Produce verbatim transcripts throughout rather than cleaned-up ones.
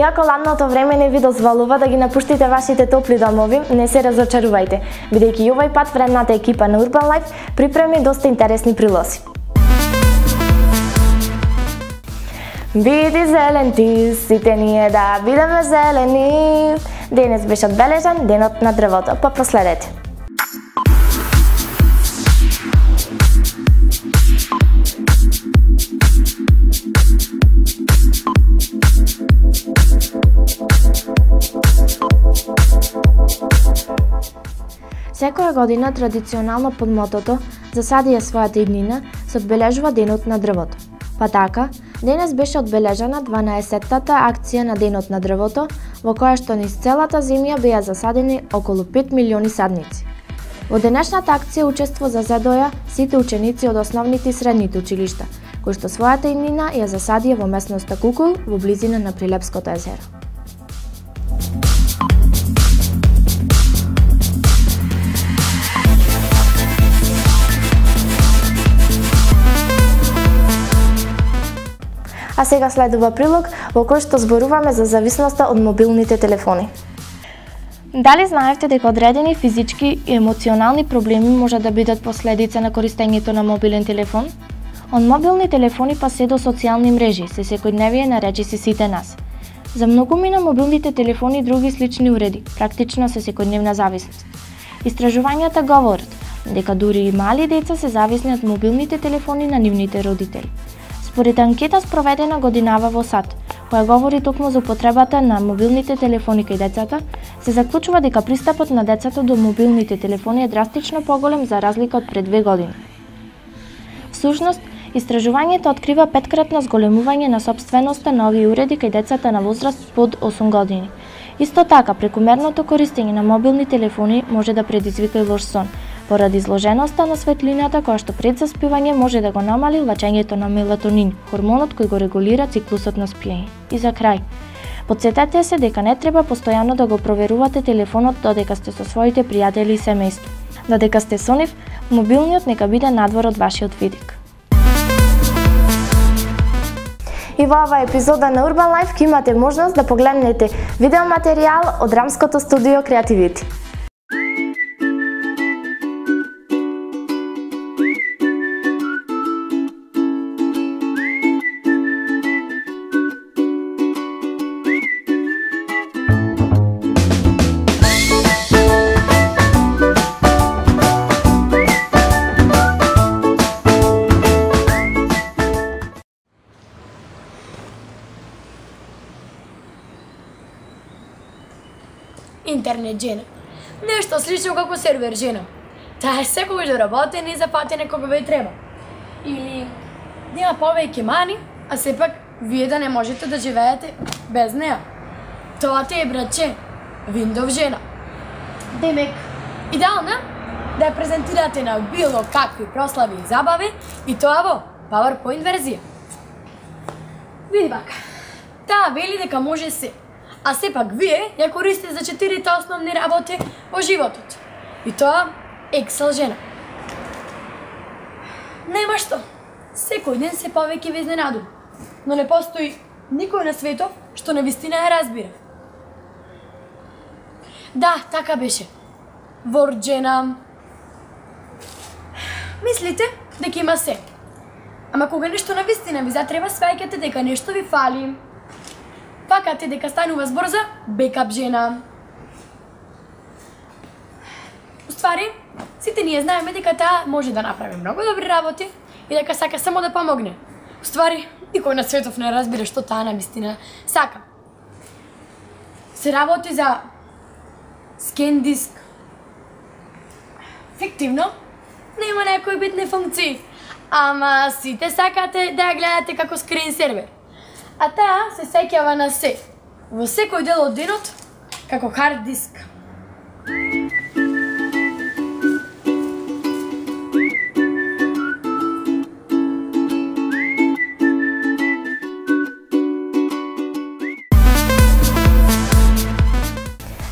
Иако ладното време не ви дозволува да ги напуштите вашите топли домови, не се разочарувајте, бидејќи и овој пат вредната екипа на Urban Life припреми доста интересни прилози. Биди зелен ти, сите ние да бидеме зелени. Денес беше одбележан денот на дрвото, па проследете. Секоја година традиционално под мотото "Засади ја својата иднина" се одбележува денот на дрвото. Па така, денес беше одбележана дванаесеттата акција на денот на дрвото, во која што низ целата земја беа засадени околу пет милиони садници. Во денешната акција учество зазедоја сите ученици од основните и средните училишта, кои што својата иднина ја засадија во месноста Кукул во близина на Прилепското езеро. А сега следува прилог во кој што зборуваме за зависноста од мобилните телефони. Дали знаевте дека одредени физички и емоционални проблеми може да бидат последица на користењето на мобилен телефон? Од мобилни телефони па се до социјални мрежи, се секојдневие на речиси сите нас. За многумина мобилните телефони и други слични уреди практично се секојдневна зависност. Истражувањата говорат дека дури и мали деца се зависни од мобилните телефони на нивните родители. Според анкета спроведена годинава во САД, која говори токму за употребата на мобилните телефони кај децата, се заклучува дека пристапот на децата до мобилните телефони е драстично поголем за разлика од пред две години. Всушност, истражувањето открива петкратно зголемување на сопственоста на овие уреди кај децата на возраст под осум години. Исто така, прекумерното користење на мобилни телефони може да предизвика и лош сон, поради изложеноста на светлината која што пред заспивање може да го намали лачењето на мелатонин, хормонот кој го регулира циклусот на спиење. И за крај, потсетете се дека не треба постојано да го проверувате телефонот додека сте со своите пријатели и семејство. Додека сте со нив, мобилниот нека биде надвор од вашиот видик. И во оваа епизода на Urban Life ќе имате можност да погледнете видеоматеријал од драмското студио Creativity. Интернет жена. Нешто слично како сервер жена. Таа е секогаш доработена и запатена кога ве треба. Или нема повеќе мани, а сепак вие да не можете да живеете без неа. Тоа ти е, братче, Windows жена. Демек, идеална да ја презентирате на било какви прослави и забави и тоа во PowerPoint верзија. Види бака, таа вели дека може се. А сепак вие ја користите за четирите основни работи во животот. И тоа Excel жена. Нема што. Секој ден се повеќе ве изненадува. Но не постои никој на светот што навистина ја разбира. Да, така беше. Word жена. Мислите дека има се. Ама кога нешто навистина ви затреба, сваќате дека нешто ви фали. Пакате дека станува збор за бекап жена. Уствари, сите ние знаеме дека таа може да направи многу добри работи и дека сака само да помогне. Уствари, никој на светов не разбира што таа навистина сака. Се работи за скен диск. Фиктивно, нема некои битни функции, ама сите сакате да ја гледате како скрин сервер. А таа се сеќава на се, во секој дел од денот, како хард диск.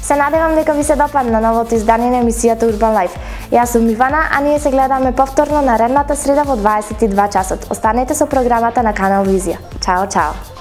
Се надевам дека ви се допадна новото издание на емисијата Urban Life. Јас сум Ивана, а ние се гледаме повторно наредната среда во дваесет и два часот. Останете со програмата на Канал Визија. Чао, чао!